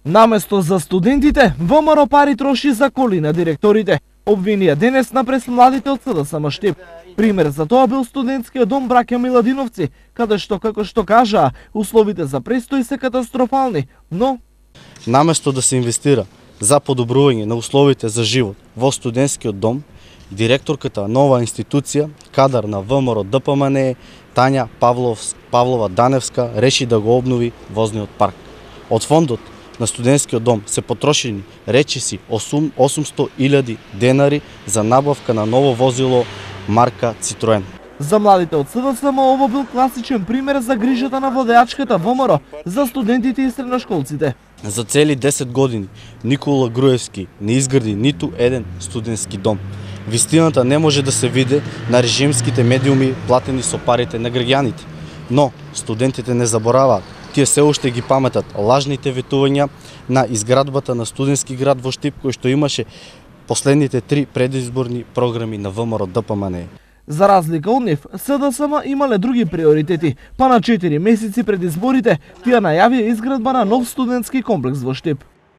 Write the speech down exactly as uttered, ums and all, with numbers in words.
Наместо за студентите, ВМРО пари троши за коли на директорите. Обвинија денес на пресмладите од СДСМ Штип. Пример за тоа бил студентскиот дом браќа Миладиновци, каде што, како што кажаа, условите за престој се катастрофални, но наместо да се инвестира за подобрување на условите за живот во студентскиот дом, директорката на оваа институција, кадар на ВМРО Д П М Н, Тања Павлов, Павлова Даневска, реши да го обнови возниот парк. Од фондот на студентскиот дом се потрошени речиси осумсто илјади денари за набавка на ново возило марка Цитроен. За младите од СДСМ ово бил класичен пример за грижата на владеачката ВМРО за студентите и средношколците. За цели десет години Никола Груевски не изгради ниту еден студентски дом. Вистината не може да се види на режимските медиуми платени со парите на граѓаните. Но студентите не забораваат. Тие се уште ги паметат лажните ветувања на изградбата на студентски град во Штип, кој што имаше последните три предизборни програми на ВМРО Д П М Н. За разлика од нив, СДСМ имале други приоритети, па на четири месеци пред изборите тие најавија изградба на нов студентски комплекс во Штип.